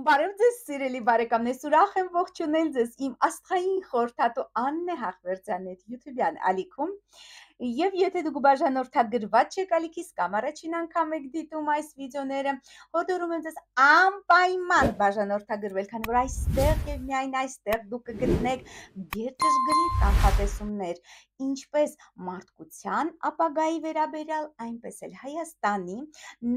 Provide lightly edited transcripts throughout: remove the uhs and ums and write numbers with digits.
Բարև ձեզ, սիրելի բարեկամներ, ուրախ եմ ողջունել ձեզ իմ աստղային խորհրդատու Աննե Հախվերդյանի YouTube-յան ալիքում։ Եվ եթե դուք բաժանորդագրված չեք ալիքից կամ առաջին անգամ եք դիտում այս վիդեոները, հորդորում եմ ձեզ անպայման բաժանորդագրվել, քանի որ այստեղ եւ միայն այստեղ դուք կգտնեք գերճշգրիտ կանխատեսումներ, ինչպես մարդկության ապագայի վերաբերյալ, այնպես էլ Հայաստանի,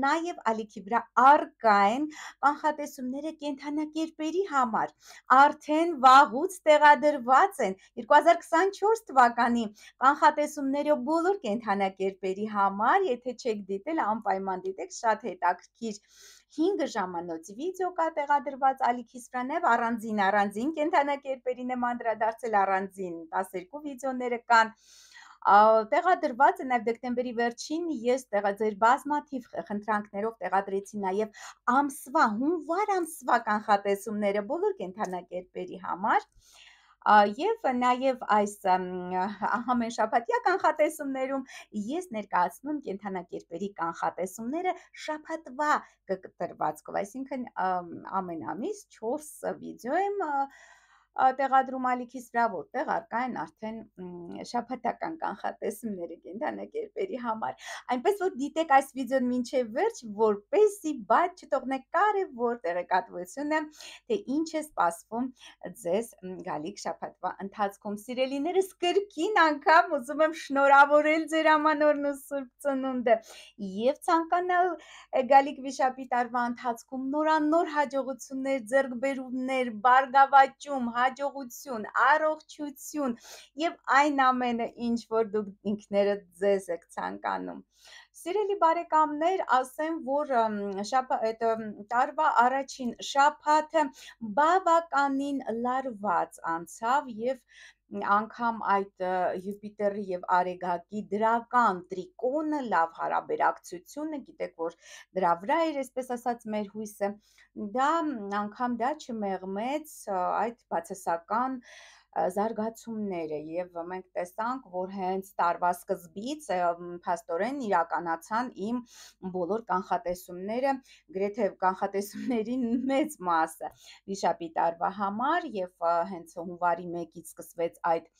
նաև ալիքի վրա առկա են կանխատեսումները կենդանակերպերի համար, արդեն վաղուց տեղադրված են 2024 թվականի կանխատեսումները բոլոր կենդանակերպերի համար, եթե չեք դիտել, անպայման դիտեք, շատ հետաքրքիր 5 ժամանոց վիդեո կա տեղադրված ալիքիս վրա, նաև առանձին կենդանակերպերին եմ անդրադարձել, առանձին 12 վիդեոները կան, տեղադրված է նաև դեկտեմբերի վերջին ես ձեր բազմաթիվ խնդրանքներով տեղադրեցի նաև ամսվա, հունվար ամսվա կանխատեսումները բոլոր կենդանակերպերի համար, եւ նաև այս ամեն շաբաթյա կանխատեսումներում ես ներկայացնում եմ կենդանակերպերի կանխատեսումները շաբաթվա կտրվածքով, այսինքն ամեն ամիս 4 վիդեո եմ տեղադրում ալիքիս վրա, որտեղ առկա են արդեն շաբաթական կանխատեսումները կենդանակերպերի համար, այնպես որ դիտեք այս վիդեոն մինչև վերջ, որպեսզի բաց չթողնեք կարևոր տեղեկատվությունը, թե ինչ է սպասվում ձեզ գալիք շաբաթվա ընթացքում։ Սիրելիներս, կրկին անգամ ուզում եմ շնորհավորել ձեր ամանորն ու Սուրբ Ծնունդը եւ ցանկանալ գալիք վիշապի տարվա ընթացքում նորանոր հաջողություններ, ձեռքբերումներ, բարգավաճում, հաջողություն, առողջություն եւ այն ամենը, ինչ որ դուք ինքներդ ձեզ եք ցանկանում։ Սիրելի բարեկամներ, ասեմ, որ տարվա առաջին շաբաթը բավականին լարված անցավ եւ անգամ այդ Յուպիտերի եւ Արեգակի դրական տրիկոնը, լավ հարաբերակցությունը, գիտեք, որ դրա վրա էր, այսպես ասած, մեր հույսը, դա անգամ դա չմեղմեց այդ բացասական զարգացումները եւ մենք տեսանք, որ հենց տարվա սկզբից փաստորեն իրականացան իմ բոլոր կանխատեսումները, գրեթե կանխատեսումների մեծ մասը վիշապի տարվա համար եւ հենց հունվարի 1-ից սկսվեց այդ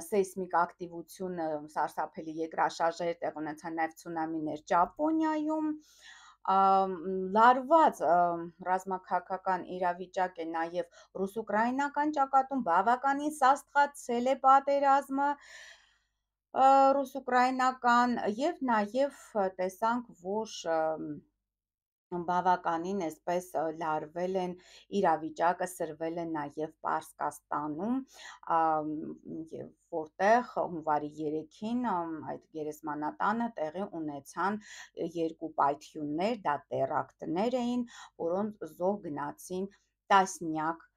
սեյսմիկ ակտիվությունը, սարսափելի երկրաշարժեր տեղ ունեցան, նաև ցունամիներ Ճապոնիայում, լարված ռազմաքաղաքական իրավիճակ է նաև ռուս-ուկրաինական ճակատում, բավականին սաստղացել է պատերազմը ռուս-ուկրաինական եւ նաև տեսանք, որ բավականին այսպես լարվել են իրավիճակը, սրվել են նաև Պարսկաստանում, որտեղ հունվարի 3-ին այդ գերեզմանատանը տեղի ունեցան 2 պայթյուններ, դա տերակտներ էին, որոնց զոհ գնացին տասնյակ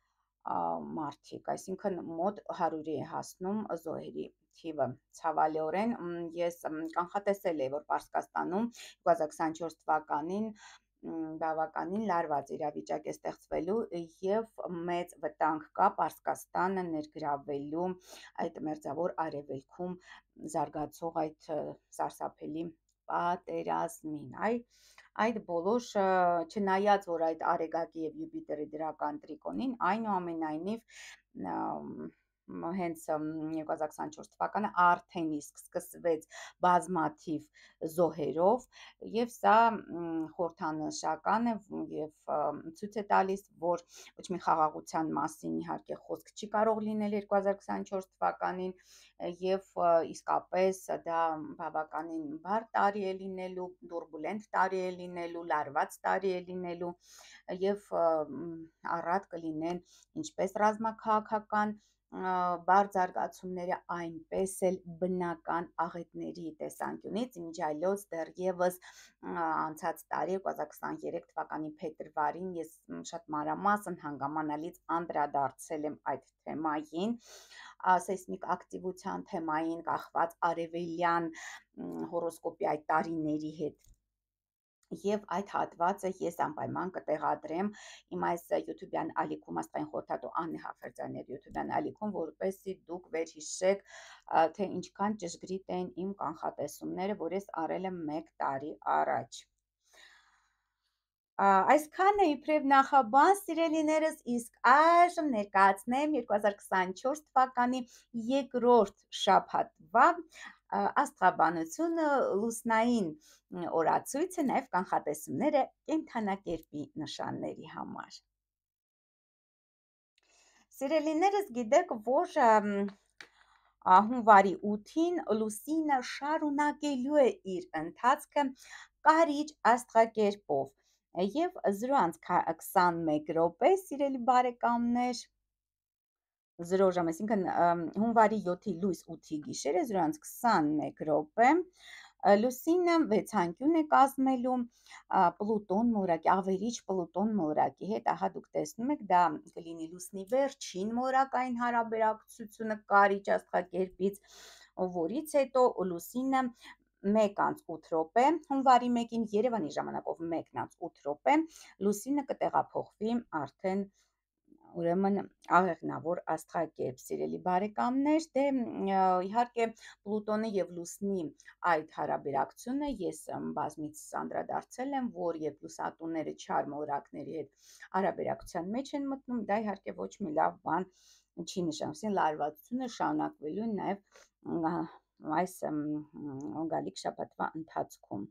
մարդիկ, այսինքն մոտ 100-ի է հասնում զոհերի թիվը, ցավալիորեն ես կանխատեսել էի, որ Պարսկաստանում 2024 թվականին բավականին լարված իրավիճակ է ստեղծվելու եւ մեծ վտանգ կա Պարսկաստանը ներգրավելու այդ մերձավոր արևելքում զարգացող այդ սարսափելի պատերազմին, այդ բոլոր չնայած որ այդ Արեգակի եւ Յուպիտերի դրական տրիկոնին, այնուամենայնիվ հենց 2024 թվականը արդեն իսկ սկսվեց բազմաթիվ զոհերով եւ սա խորհրդանշական է եւ ցույց է տալիս, որ ոչ մի խաղաղության մասին իհարկե խոսք չի կարող լինել 2024 թվականին եւ իսկապես դա բավականին բարդ տարի է լինելու, տուրբուլենտ տարի է լինելու, լարված տարի է լինելու եւ առատ կլինեն ինչպես ռազմաքաղաքական բարձ զարգացումները, այնպես էլ բնական աղետների տեսանկյունից, ինչ այլոց դեռևս անցած տարի 2023 թվականի փետրվարին ես շատ մանրամասն հանգամանալից անդրադարձել եմ այդ թեմային, սեյսմիկ ակտիվության թեմային, կախված արևելյան հորոսկոպի այդ տարիների հետ եւ այդ հատվածը ես անպայման կտեղադրեմ իմ այս YouTube-յան ալիքում, աստղային խորհրդատու Աննե Հախվերդյանի YouTube-յան ալիքում, որպեսզի դուք վերհիշեք, թե ինչքան ճշգրիտ են իմ կանխատեսումները, որ ես արել եմ 1 տարի առաջ։ Այսքանը իբրև նախաբան սիրելիներս, իսկ այժմ ներկայացնեմ 2024 թվականի երկրորդ շաբաթվա աստղաբանությունը լուսնային օրացույցը, նաև կանխատեսումները կենդանակերպի նշանների համար։ Սիրելիներս, գիտեք, որ հունվարի 8-ին լուսինը շարունակելու է իր ընթացքը կարիճ աստղակերպով եւ 0:21 րոպե, սիրելի բարեկամներ, 0 ժամ, այսինքն հունվարի 7-ի լույս 8-ի գիշերը 0:21 րոպե լուսինը վեցանկյուն է կազմելու Պլուտոն մոլորակի, ավերիչ Պլուտոն մոլորակի հետ, ահա դուք տեսնում եք, դա կլինի լուսնի վերջին մոլորակային հարաբերակցությունը կարիճ աստղակերպից, որից հետո լուսինը 1:08 րոպե, հունվարի 1-ին Երևանի ժամանակով 1:08 րոպե, լուսինը կտեղափոխվի արդեն ուրեմն աղեղնավոր աստղակերպ, սիրելի բարեկամներ, դե իհարկե Պլուտոնի եւ լուսնի այդ հարաբերակցությունը ես բազմիցս անդրադարձել եմ, որ երբ լուսատուները չար մոլորակների հետ հարաբերակցության մեջ են մտնում, դա իհարկե ոչ մի լավ բան չի նշանակում, լարվածությունը շարունակվելու է նաև այս գալիք շաբաթվա ընթացքում։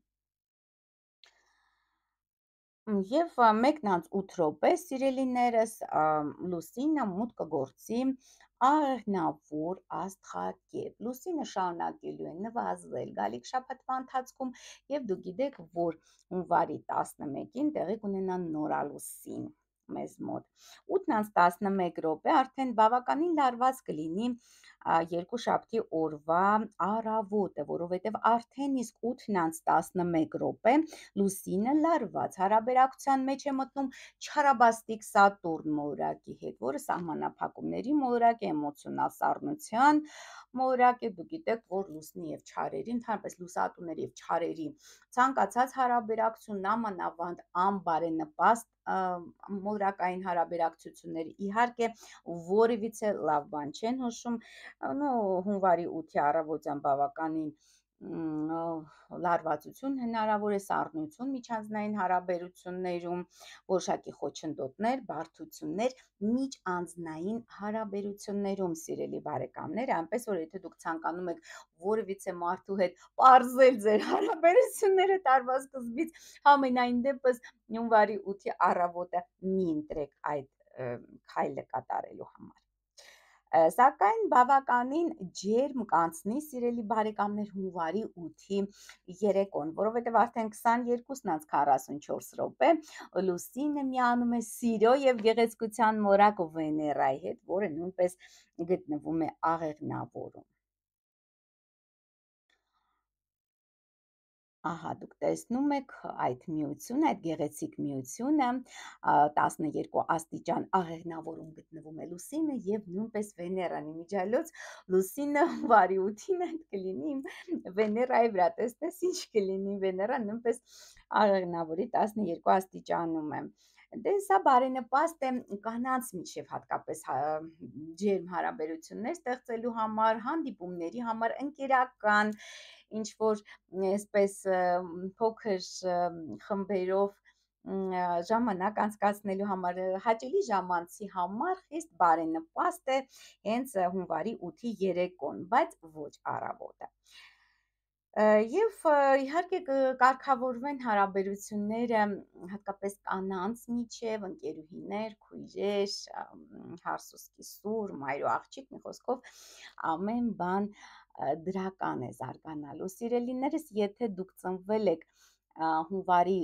Եվ 1:08 րոպե, սիրելիներս, լուսինը մուտք կգործի աղեղնավոր աստղակերպ։ Լուսինը շարունակելու է նվազել գալիք շաբաթվա ընթացքում, եւ դուք գիտեք, որ հունվարի 11-ին տեղի կունենա նորալուսին մեզ մոտ։ 8:11 րոպե արդեն բավականին լարված կլինի երկուշաբթի օրվա առավոտը, որովհետև արդեն իսկ 8:11 րոպե լուսինը լարված հարաբերակցության մեջ է մտնում չարաբաստիկ Սատուրն մոլորակի հետ, որը սահմանափակումների մոլորակ է, էմոցիոնալ սառնության մոլորակ է։ Դուք գիտեք, որ լուսնի եւ չարերի, ընդհանրապես լուսատուների եւ չարերի ցանկացած հարաբերակցություն, նամանավանդ անբարենպաստ մոլորակային հարաբերակցությունները իհարկե որևիցե լավ բան չեն հուշում, հունվարի 8-ի առավոտյան բավականին լարվածություն հնարավոր է, սառնություն միջանձնային հարաբերություններում, որոշակի խոչընդոտներ, բարդություններ միջանձնային հարաբերություններում, սիրելի բարեկամներ, այնպես որ եթե դուք ցանկանում եք որևիցե մարդու հետ պարզել ձեր հարաբերությունները տարվա սկզբից, համենայն դեպս հունվարի 8-ի առավոտը մի ընտրեք այդ քայլը կատարելու համար։ Սակայն բավականին ջերմ կանցնի, սիրելի բարեկամներ, հունվարի 8-ի երեկոն, որովհետև արդեն 22:44 րոպե լուսինը միանում է սիրո եւ գեղեցկության մոլորակ Վեներայի հետ, որը նույնպես գտնվում է աղեղնավորում։ Ահա դուք տեսնում եք այդ միությունը, այդ գեղեցիկ միությունը, 12 աստիճան աղեղնավորում գտնվում է լուսինը եւ նույնպես Վեներան, իմիջիայլոց լուսինը հունվարի 8-ին այդ կլինի իմ Վեներայի վրա, տեսնես ինչ կլինի, Վեներան նույնպես աղեղնավորի 12 աստիճանում է։ Դե սա բարենպաստ է կանանց միջև հատկապես ջերմ հարաբերություններ ստեղծելու համար, հանդիպումների համար, ընկերական ինչ որ այսպես փոքր խմբերով ժամանակ անցկացնելու համար, հաճելի ժամանցի համար խիստ բարենպաստ է հենց հունվարի 8-ի երեկոն, բայց ոչ առավոտը։ Եվ իհարկե կկարգավորվեն հարաբերությունները հատկապես կանանց միջև, ընկերուհիներ, քույրեր, հարսուսկիսուր, մայր ու աղջիկ, մի խոսքով ամեն բան դրական է զարգանալու։ Սիրելիներս, եթե դուք ծնվել եք հունվարի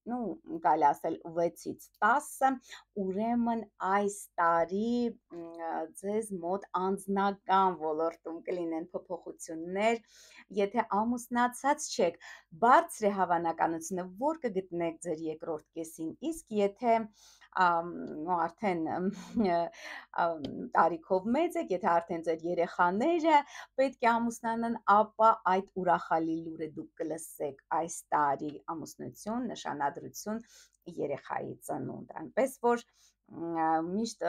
կարելի ասել 6-ից 10, ուրեմն այս տարի ձեզ մոտ անձնական ոլորտում կլինեն փոփոխություններ, եթե ամուսնացած չեք, բարձր է հավանականությունը, որ կգտնեք ձեր երկրորդ կեսին, իսկ եթե արդեն տարիքով մեծ եք, եթե արդեն ձեր երեխաները պետք է ամուսնանան, ապա այդ ուրախալի լուրը դուք կլսեք այս տարի ամուսնություն, նշանադրություն, երեխայի ծնունդ, այնպես որ միշտ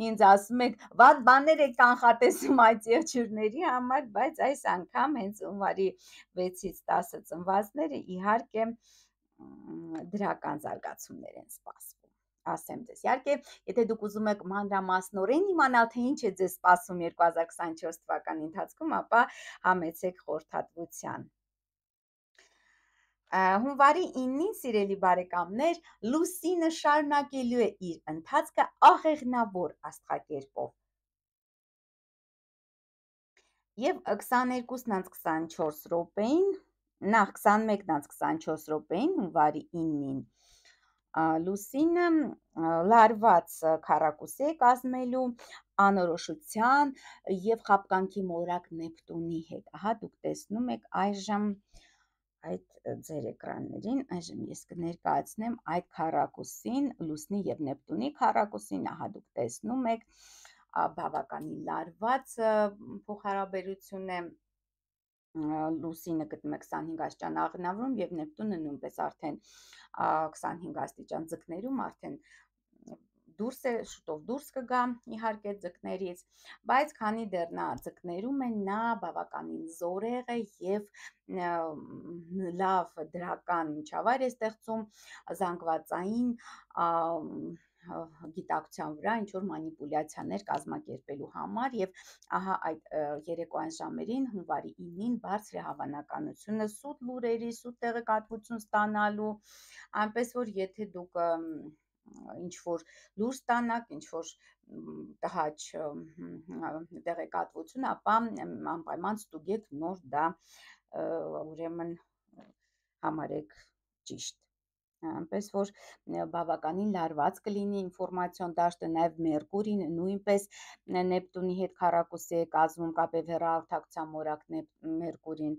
ինձ ասում եք, վատ բաներ եք կանխատեսում այդ եղջյուրների համար, բայց այս անգամ հենց հունվարի 6-ից 10 ծնվածները իհարկե դրական զարգացումներ են սպասվում։ Ասեմ ձեզ։ Իհարկե, եթե դուք ուզում եք մանրամասնորեն իմանալ, թե ինչ է ձեզ սպասում 2024 թվականի ընթացքում, ապա համեցեք խորհրդատվության։ Հունվարի 9-ին, սիրելի բարեկամներ, Լուսինը շարունակելու է իր ընթացքը աղեղնավոր աստղակերպով։ Եվ 22:24 րոպեին, նախ 21:24 րոպեին, հունվարի 9-ին, Լուսինը լարված քառակուսի է կազմելու անորոշության եւ խաբկանքի մորակ Նեպտունի հետ։ Ահա դուք տեսնում եք այժմ այդ ձեր էկրաններին, այժմ ես կներկայացնեմ այդ քառակուսին, Լուսնի եւ Նեպտունի քառակուսին, ահա դուք տեսնում եք բավականին լարված փոխհարաբերություն է, Լուսինը գտնում է 25 աստիճան աղնավորում եւ Նեպտունը նույնպես արդեն 25 աստիճան ձկներում, արդեն շուտով դուրս կգա իհարկե ձկներից, բայց քանի դեռ նա ձկներում է, նա բավականին զորեղ է եւ լավ դրական միջավայր է ստեղծում զանգվածային գիտակցության վրա ինչ որ մանիպուլյացիաներ կազմակերպելու համար եւ ահա այդ երեկոյան ժամերին հունվարի 9-ին բարձր է հավանականությունը սուտ լուրերի, սուտ տեղեկատվություն ստանալու, այնպես որ եթե դուք ինչ որ լուր ստանաք, ինչ որ տհաճ տեղեկատվություն, ապա անպայման ստուգեք նոր դա ուրեմն համարեք ճիշտ։ Այնպես որ բավականին լարված կլինի ինֆորմացիոն դաշտը, նաև Մերկուրին նույնպես Նեպտունի հետ քառակուսի է կազմում կապև հեռահաղորդակցության մորակ Մերկուրին,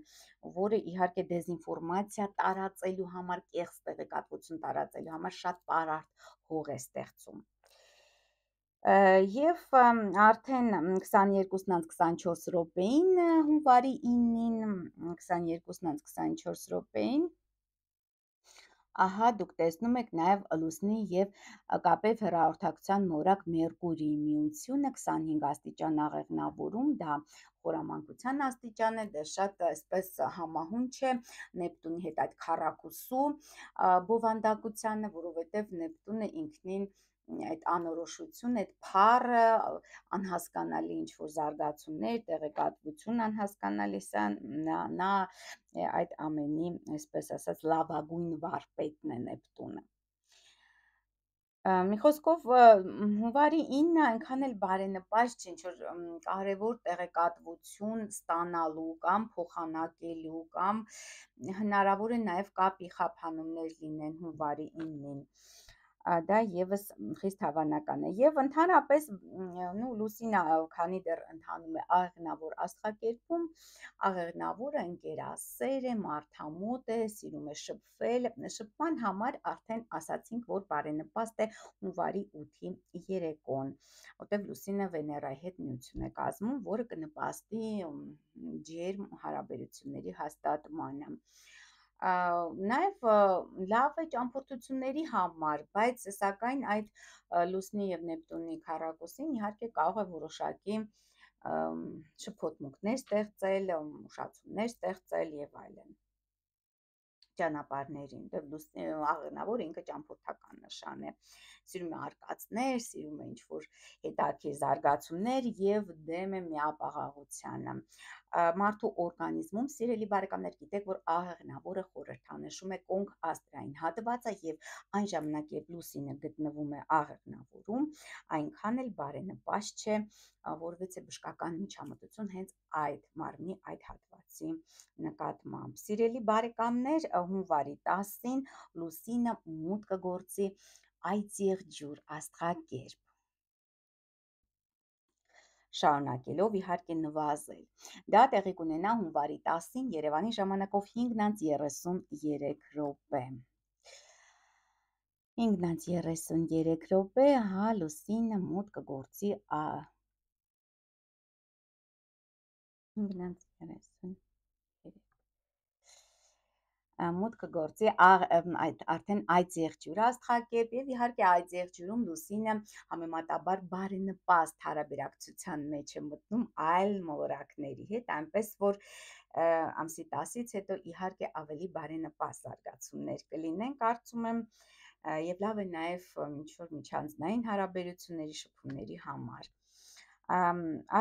որը իհարկե դեզինֆորմացիա տարածելու համար, կեղծ տեղեկատվություն տարածելու համար շատ պարարտ հող է ստեղծում։ Եվ արդեն 22:24 րոպեին, հունվարի 9-ին, 22:24 րոպեին, ահա դուք տեսնում եք նաև Լուսնի եւ կապև հեռահաղորդակցության մորակ Մերկուրիի միությունը 25 աստիճան աղեղնավորում, դա խորամանկության աստիճան է, դա շատ այսպես համահունչ է Նեպտունի հետ այդ քառակուսու բովանդակությանը, որովհետև Նեպտունը ինքնին այդ անորոշություն, այդ փառը, անհասկանալի ինչ-որ զարգացումներ, տեղեկատվություն անհասկանալի, սա նա այդ ամենի, այսպես ասած, լավագույն վարպետն է Նեպտունը։ Մի խոսքով հունվարի 9-ը այնքան էլ բարենպաստ չէ, ինչ-որ կարևոր տեղեկատվություն ստանալու կամ փոխանակելու կամ հնարավոր է նաև կապի խափանումներ լինեն հունվարի 9-ին, դա եւս խիստ հավանական է եւ ընդհանրապես Լուսինը քանի դեռ ընթանում է աղեղնավոր աստղակերպում, աղեղնավորը ընկերասեր է, մարդամոտ է, սիրում է շփվել, շփման համար արդեն ասացինք, որ բարենպաստ է հունվարի 8-ի երեկոն, որտեղ Լուսինը Վեներայի հետ միություն է կազմում, որը կնպաստի ջերմ հարաբերությունների հաստատմանը։ Նաև լավ է ճամփորդությունների համար, բայց սակայն այդ Լուսնի եւ Նեպտունի քառակուսին իհարկե կարող է որոշակի շփոթմունքներ ստեղծել, ուշացումներ ստեղծել եւ այլն ճանապարհներին, դեպ աղեղնավորը ինքը ճամփորդական նշան է, սիրում է արկածներ, սիրում է ինչ-որ հետաքրքիր զարգացումներ եւ դեմ է միապաղաղությանը։ Մարդու օրգանիզմում, սիրելի բարեկամներ, գիտեք, որ աղեղնավորը խորհրդանշում է կոնք աստրային հատվածը եւ այն ժամանակ, երբ Լուսինը գտնվում է աղեղնավորում, այնքան էլ բարենպաստ չէ, որովհետեւ բժշկական միջամտություն հենց այդ մարմնի այդ հատվածի նկատմամբ։ Սիրելի բարեկամներ, հունվարի 10-ին Լուսինը մուտք կգործի Այծեղջյուր աստղակերպ, շարունակելով իհարկե նվազել։ Դա տեղի կունենա հունվարի 10-ին Երևանի ժամանակով 5:33 րոպե։ 5:33 րոպե, հա, Լուսինը մուտք կգործի 5:33 մուտքը գործի արդեն այդ եղջյուրը աստղակերպ եւ իհարկե այդ եղջյուրում լուսինը համեմատաբար բարենպաստ հարաբերակցության մեջ է մտնում այլ մոլորակների հետ, այնպես որ ամսի 10-ից հետո իհարկե ավելի բարենպաստ զարգացումներ կլինեն, կարծում եմ, եւ լավ է նաեւ ինչ որ միջանձնային հարաբերությունների շփումների համար։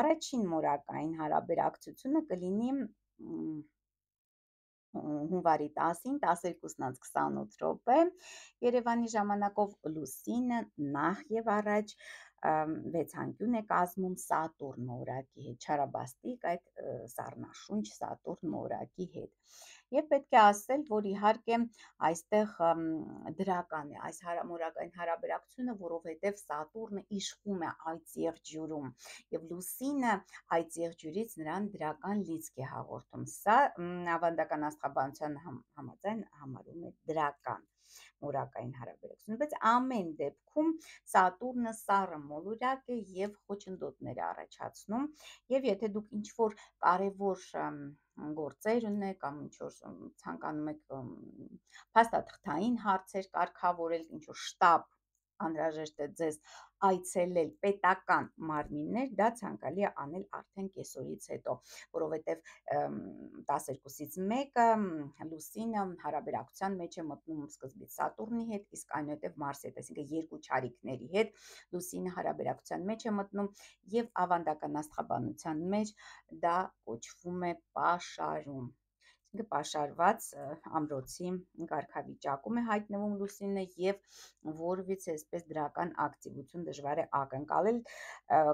Առաջին մորակային հարաբերակցությունը կլինի հունվարի 10-ին 12:28 րոպե Երևանի ժամանակով լուսինը նախ եւ առաջ վեցանկյուն է կազմում Սատուրն մորակի հետ, չարաբաստիկ այդ սառնաշունչ Սատուրն մորակի հետ։ Եվ պետք է ասել, որ իհարկե այստեղ դրական է այս մորակային հարաբերակցությունը, որովհետև Սատուրնը իշխում է այդ եղջյուրում եւ լուսինը այդ եղջյուրից նրան դրական լիցք է հաղորդում։ Սա ավանդական աստղաբանության համաձայն համարում է դրական մորակային հարաբերություն, բայց ամեն դեպքում Սատուրնը սառը մոլորակ է եւ խոչընդոտներ է առաջացնում, եւ եթե դուք ինչ որ կարևոր գործեր ունեք կամ ինչ որ ցանկանում եք փաստաթղթային հարցեր կարգավորել, ինչ որ շտաբ անհրաժեշտ է ձեզ այցելել պետական մարմիններ, դա ցանկալի է անել արդեն կեսօրից հետո, որովհետև 12-ից 1-ը լուսինը հարաբերակցության մեջ է մտնում սկզբից Սատուրնի հետ, իսկ այնուհետև Մարսի հետ, այսինքն երկու չարիքների հետ լուսինը հարաբերակցության մեջ է մտնում եւ ավանդական աստղաբանության մեջ դա կոչվում է պաշարում։ Պաշարված ամրոցի կարգավիճակում է հայտնվում լուսինը եւ որևիցե այսպես դրական ակտիվություն դժվար է ակնկալել,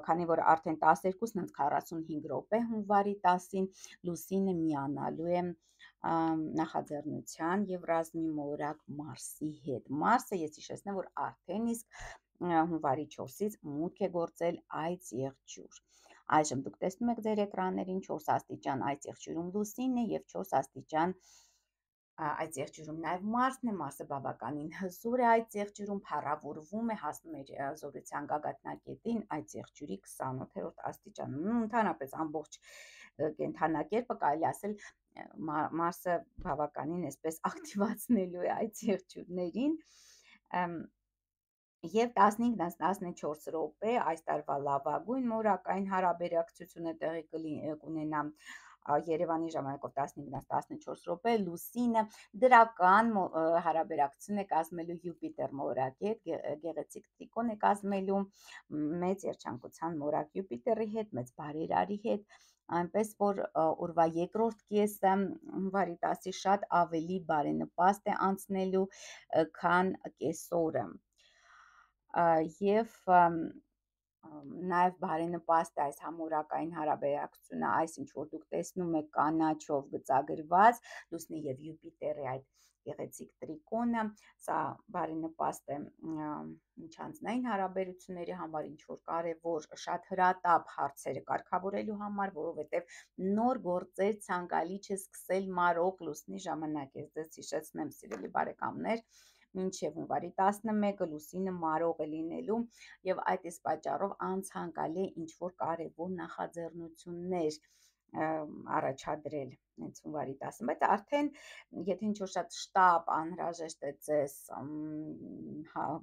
քանի որ արդեն 12:45 րոպե հունվարի 10-ին լուսինը միանալու է նախաձեռնության եւ ռազմի մոլորակ Մարսի հետ։ Մարսը ես հիշեցնեմ, որ արդեն իսկ հունվարի 4-ից մուտք է գործել այդ եղջյուր։ Այժմ դուք տեսնում եք ձեր էկրաններին 4 աստիճան այդ եղջյուրում լուսինն է եւ 4 աստիճան այդ եղջյուրում նաև Մարսն է, Մարսը բավականին հզոր է այդ եղջյուրում, փառավորվում է, հասնում է զորության գագաթնակետին այդ եղջյուրի 28-րդ աստիճանում։ Ընդհանրապես ամբողջ կենդանակերպը կարելի ասել Մարսը բավականին այսպես ակտիվացնելու է այդ եղջյուրներին եւ 15-14 րոպե այս տարվա լավագույն մորակային հարաբերակցությունը տեղի կունենա Երևանի ժամանակով 15-14 րոպե լուսինը դրական հարաբերակցություն է կազմելու Յուպիտեր մորակի հետ, գեղեցիկ տրիկոն է կազմելու մեծ երջանկության մորակ Յուպիտերի հետ, մեծ բարերարի հետ, այնպես որ օրվա երկրորդ կեսը հունվարի 10-ի շատ ավելի բարենպաստ է անցնելու, քան կեսօրը եւ նաև բարենպաստ է այս համորակային հարաբերակցությունը, այս ինչ որ դուք տեսնում եք կանաչով գծագրված լուսնի եւ Յուպիտերի այդ գեղեցիկ տրիկոնը, սա բարենպաստ է միջանձնային հարաբերությունների համար, ինչ որ կարևոր շատ հրատապ հարցերը կարգավորելու համար, որովհետեւ նոր գործեր ցանկալի չէ սկսել մարող լուսնի ժամանակ։ Ես ձեզ հիշեցնեմ, սիրելի բարեկամներ, մինչև հունվարի 11-ը լուսինը մարող է լինելու եւ այդ իսկ պատճառով անցանկալի է ինչ որ կարևոր նախաձեռնություններ առաջադրել հենց հունվարի 10-ին, բայց արդեն եթե ինչ որ շատ շտապ անհրաժեշտ է ձեզ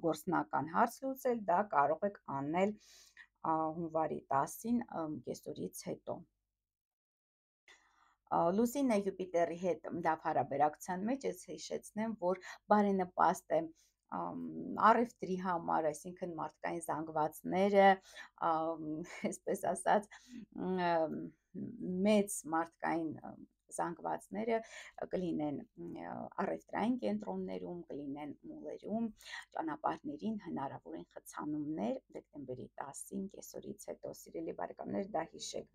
գործնական հարց լուծել, դա կարող եք անել հունվարի 10-ին կեսօրից հետո։ Լուսինը Յուպիտերի հետ լավ հարաբերակցության մեջ ես հիշեցնեմ, որ բարենպաստ է առևտրի համար, այսինքն մարդկային զանգվածները, այսպես ասած, մեծ մարդկային զանգվածները կլինեն առևտրային կենտրոններում, կլինեն մոլերում, ճանապարհներին հնարավոր են խցանումներ դեկտեմբերի 10-ին կեսօրից հետո, սիրելի բարեկամներ, դա հիշեք,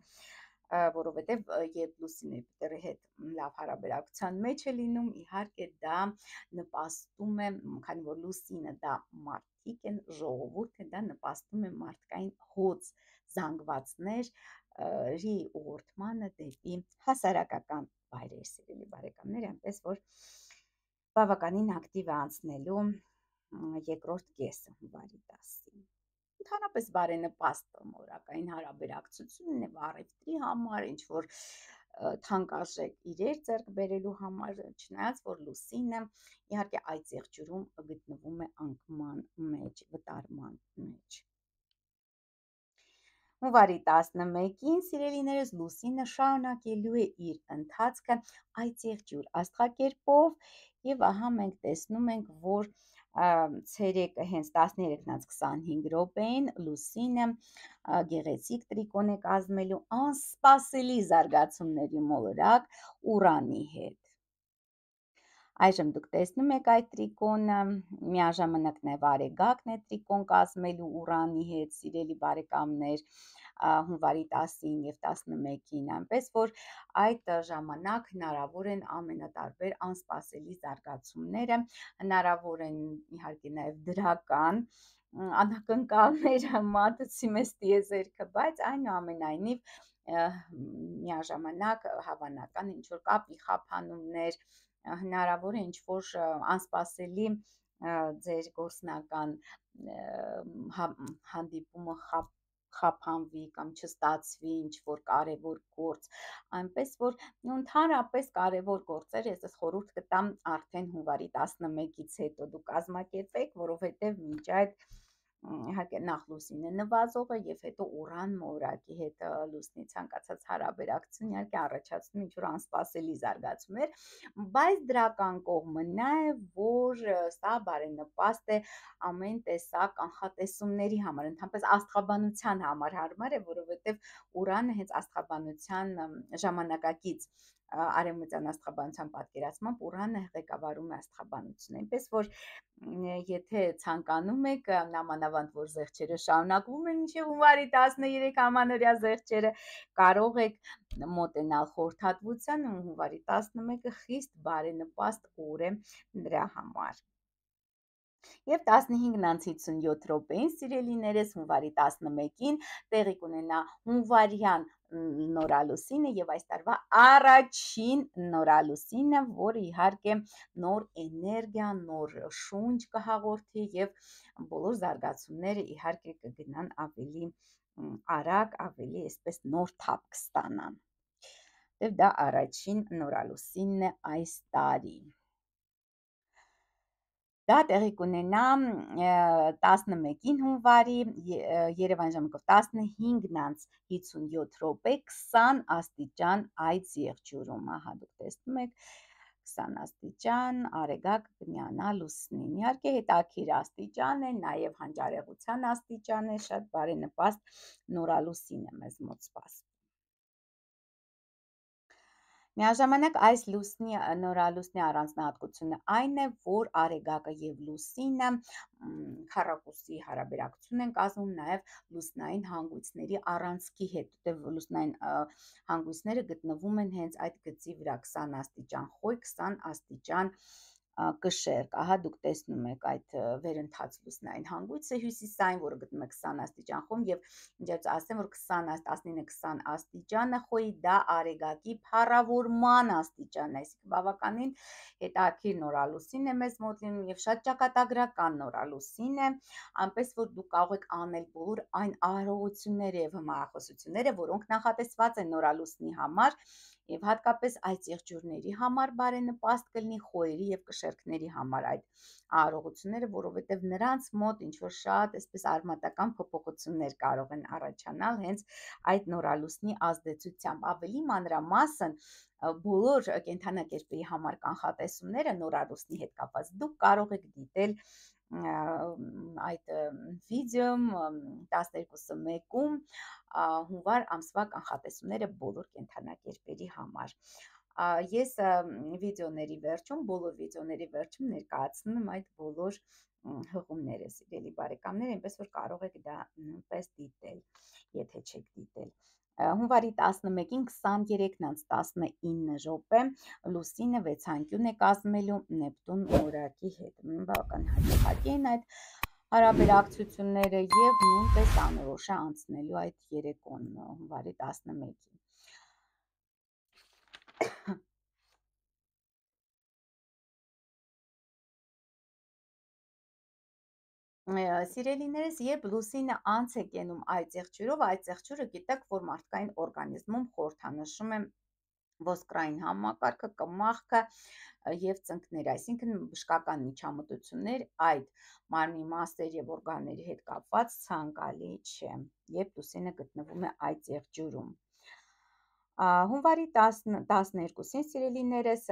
որովհետև երբ լուսինը Յուպիտերի հետ լավ հարաբերակցության մեջ է լինում, իհարկե դա նպաստում է, քանի որ լուսինը դա մարդիկ են, ժողովուրդ է, դա նպաստում է մարդկային հոծ զանգվածների ուղղորդմանը դեպի հասարակական վայրեր, սիրելի բարեկամներ, այնպես որ բավականին ակտիվ է անցնելու երկրորդ կեսը հունվարի 10-ին։ Ընդհանրապես բարենպաստ մորակային հարաբերակցությունն է առևտրի համար, ինչ որ թանկարժեք իրեր ձեռք բերելու համար, չնայած որ լուսինը իհարկե այդ եղջյուրում գտնվում է անկման մեջ, վտարման մեջ։ Հունվարի 11-ին, սիրելիներս, լուսինը շարունակելու է իր ընթացքը այծեղջյուր աստղակերպով եւ ահա մենք տեսնում ենք, որ ցերեկը հենց 13:25 րոպեին լուսինը գեղեցիկ տրիկոն է կազմելու անսպասելի զարգացումների մոլորակ Ուրանի հետ։ Այժմ դուք տեսնում եք այդ տրիկոնը, միաժամանակ նաև Արեգակն է տրիկոն կազմելու Ուրանի հետ, սիրելի բարեկամներ, հունվարի 10-ին եւ 11-ին, այնպես որ այդ ժամանակ հնարավոր են ամենատարբեր անսպասելի զարգացումները, հնարավոր են իհարկե նաև դրական անակնկալները, մատուցի մեզ տիեզերքը, բայց այնուամենայնիվ միաժամանակ հավանական ինչ-որ կապի խափանումներ, հնարավոր է ինչ-որ անսպասելի ձեր գործնական հանդիպումը խափանվի կամ չստացվի ինչ-որ կարևոր գործ, այնպես որ ընդհանրապես կարևոր գործեր ես խորհուրդ կտամ արդեն հունվարի 11-ից հետո դուք կազմակերպեք, որովհետև մինչ այդ իհարկե նախ լուսինը նվազող է եւ հետո Ուրան մորակի հետ լուսնի ցանկացած հարաբերակցություն իհարկե առաջացնում ինչ-որ անսպասելի զարգացումներ, բայց դրական կողմը նա է, որ սա բարենպաստ է ամեն տեսակ կանխատեսումների համար, ընդհանրապես աստղաբանության համար հարմար է, որովհետև Ուրանը հենց աստղաբանության ժամանակակից արևմտյան աստղաբանության պատկերացմամբ Ուրանը ղեկավարում է աստղաբանությունը, այնպես որ եթե ցանկանում եք, նամանավանդ որ զեղչերը շարունակվում են մինչև հունվարի 13 ամանորյա զեղչերը, կարող եք մոտենալ խորհրդատվությանը, հունվարի 11-ը խիստ բարենպաստ օր է նրա համար։ Եվ 15:57 րոպեին, սիրելիներս, հունվարի 11-ին տեղի կունենա հունվարյան նորալուսինը եւ այս տարվա առաջին նորալուսինը, որը իհարկե նոր էներգիա, նոր շունչ կհաղորդի եւ բոլոր զարգացումները իհարկե կգնան ավելի արագ, ավելի այսպես նոր թափ կստանան։ Եվ դա առաջին նորալուսինն է այս տարի։ Դա տեղի կունենա 11-ին հունվարի, Երևան ժամանակով 15:57 րոպե, 20 աստիճան այծեղջյուրում, ահա դուք տեսնում եք 20 աստիճան, Արեգակ կմիանա լուսնին, իհարկե հետաքրքիր աստիճան է, նաև հանճարեղության աստիճան է, շատ բարենպաստ նորալուսին է մեզ մոտ սպասվում։ Միաժամանակ այս նորալուսնի առանձնահատկությունը այն է, որ Արեգակը եւ լուսինը քառակուսի հարաբերակցություն են կազմում նաև լուսնային հանգույցների առանցքի հետ, որտեղ լուսնային հանգույցները գտնվում են հենց այդ գծի վրա 20 աստիճան խոյ, 20 աստիճան կշեռք, ահա դուք տեսնում եք այդ վերընթաց լուսնային հանգույցը հյուսիսային, որը գտնվում է 20 աստիճան խոյում եւ ինչ ասեմ, որ 19-20 աստիճանը խոյի դա Արեգակի փառավորման աստիճանն է, այսինքն բավականին հետաքրքիր նորալուսին է մեզ մոտ լինում եւ շատ ճակատագրական նորալուսին է, այնպես որ դուք կարող եք անել բոլոր այն արարողությունները եւ հմայախոսությունները, որոնք նախատեսված են նորալուսնի համար եւ հատկապես այծեղջյուրների համար բարենպաստ կլինի, խոյերի եւ կշեռքների համար այդ արարողությունները, որովհետեւ նրանց մոտ ինչ որ շատ այսպես արմատական փոփոխություններ կարող են առաջանալ հենց այդ նորալուսնի ազդեցությամբ, ավելի մանրամասն բոլոր կենդանակերպերի համար կանխատեսումները նորալուսնի հետ կապված դուք կարող եք դիտել այդ վիդեոմ 12:1-ում հունվար ամսվա կանխատեսումները բոլոր կենդանակերպերի համար։ Ես վիդեոների վերջում, բոլոր վիդեոների վերջում ներկայացնում եմ այդ բոլոր հղումները, սիրելի բարեկամներ, այնպես որ կարող եք դա նույնպես դիտել, եթե չեք դիտել։ Հունվարի 11-ին 23:19 րոպե լուսինը վեցանկյուն է կազմելու Նեպտուն մորակի հետ։ Բավական հաջողակի են այդ հարաբերակցությունները եւ նույնպես անորոշ է անցնելու այդ երեկոն հունվարի 11-ին։ Սիրելիներս, երբ լուսինը անց է կենում այծեղջյուրով, այծեղջյուրը գիտեք, որ մարդկային օրգանիզմում խորհրդանշում է ոսկրային համակարգը, կմախքը և ծնկները, այսինքն բժշկական միջամտություններ այդ մարմնի մասերի և օրգանների հետ կապված ցանկալի չէ, երբ լուսինը գտնվում է այդ եղջյուրում։ Հունվարի 12-ին, սիրելիներս,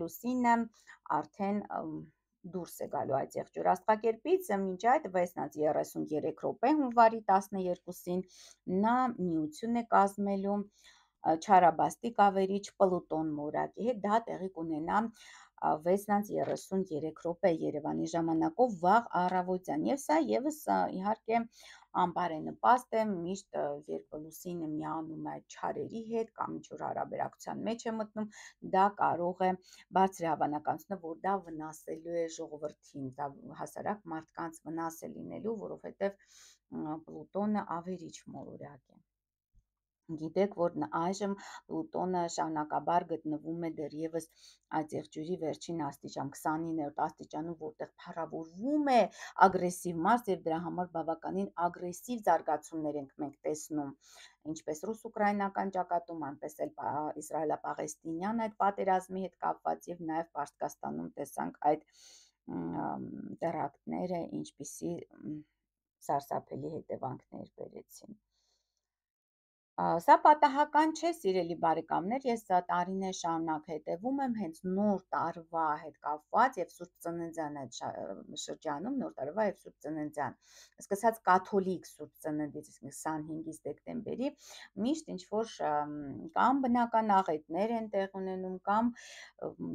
լուսինը արդեն դուրս է գալու այդ եղջյուր աստղակերպից, մինչ այդ 6-33 րոպե հունվարի 12-ին նա միություն է կազմելու չարաբաստիկ ավերիչ Պլուտոն մորակի հետ, դա տեղի կունենա 6-33 րոպե Երևանի ժամանակով վաղ առավոտյան, և սա ևս իհարկե անբարենպաստ է, միշտ երբ լուսինը միանում է չարերի հետ կամ ինչ-որ հարաբերակցության մեջ է մտնում, դա կարող է բարձր հավանականությունը, որ դա վնասելու է ժողովրդին, դա հասարակ մարդկանց վնաս է լինելու, որովհետև Պլուտոնը ավերիչ մոլորակ է։ Գիտեք, որ այժմ Պլուտոնը շարունակաբար գտնվում է դեռևս այդ եղջյուրի վերջին աստիճան, 29-րդ աստիճանում, որտեղ փառավորվում է ագրեսիվ մարդ, և դրա համար բավականին ագրեսիվ զարգացումներ ենք մենք տեսնում, ինչպես ռուս-ուկրաինական ճակատում, այնպես էլ իսրայելա-պաղեստինյան այդ պատերազմի հետ կապված, և նաև Պարսկաստանում տեսանք այդ տերակտները, ինչպիսի սարսափելի հետևանքներ բերեցին։ Սա պատահական չէ, սիրելի բարեկամներ, ես տարիներ շարունակ հետևում եմ հենց նոր տարվա հետ կապված և Սուրբ Ծննդյան այդ շրջանում, նոր տարվա և Սուրբ Ծննդյան, սկսած կաթոլիկ Սուրբ Ծննդից 25 դեկտեմբերի, միշտ ինչ-որ կամ բնական աղետներ են տեղ ունենում, կամ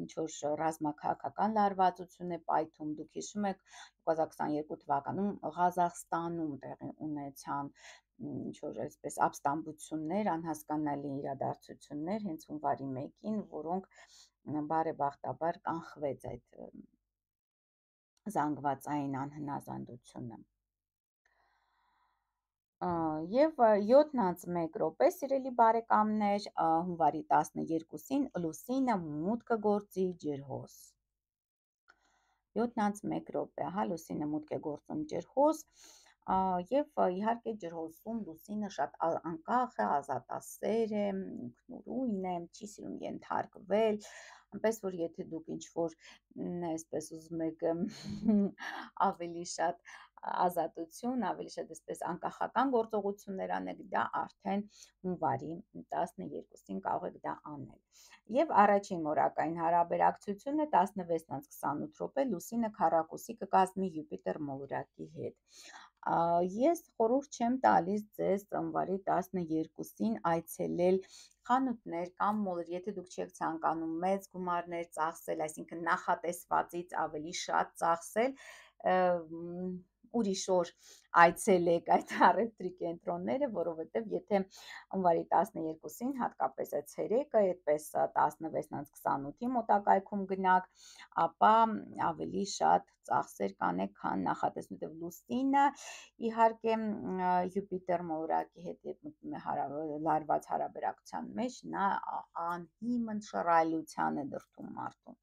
ինչ-որ ռազմաքաղաքական լարվածություն է պայթում, դուք հիշում եք 2022 թվականում Ղազախստանում տեղի ունեցան ինչ-որ այսպես ապստամբություններ, անհասկանալի իրադարձություններ հենց հունվարի 1-ին, որոնք բարեբախտաբար կանխվեց այդ զանգվածային անհնազանդությունը։ Եվ 7-1 րոպե, սիրելի բարեկամներ, հունվարի 12-ին լուսինը մուտք կգործի ջրհոս։ 7-1 րոպե, լուսինը մուտք է գործում ջրհոս, և իհարկե ջրհոսում լուսինը շատ անկախ է, ազատասեր է, ինքնուրույն է, չի սիրում ենթարկվել, այնպես որ եթե դուք ինչ-որ այսպես ուզում եք ավելի շատ ազատություն, ավելի շատ այսպես անկախական գործողություններ անեք, դա արդեն հունվարի 12-ին կարող եք դա անել։ Եվ առաջին մորակային հարաբերակցությունը 16-28 րոպե լուսինը քառակուսի կկազմի Յուպիտեր մոլորակի հետ։ Ես խորհուրդ չեմ տալիս ձեզ հունվարի 12-ին այցելել խանութներ կամ մոլեր, եթե դուք չեք ցանկանում մեծ գումարներ ծախսել, այսինքն նախատեսվածից ավելի շատ ծախսել, ուրիշ օր այցելեք այդ առևտրի կենտրոնները, որովհետև եթե հունվարի 12-ին, հատկապես այդ ցերեկը, այդպես 16-28-ի մոտակայքում գնաք, ապա ավելի շատ ծախսեր կանեք, քան նախատեսում եք։ Լուսինը իհարկե Յուպիտեր մոլորակի հետ լարված հարաբերակցության մեջ, նա անհիմն շռայլության է դրդում մարդուն։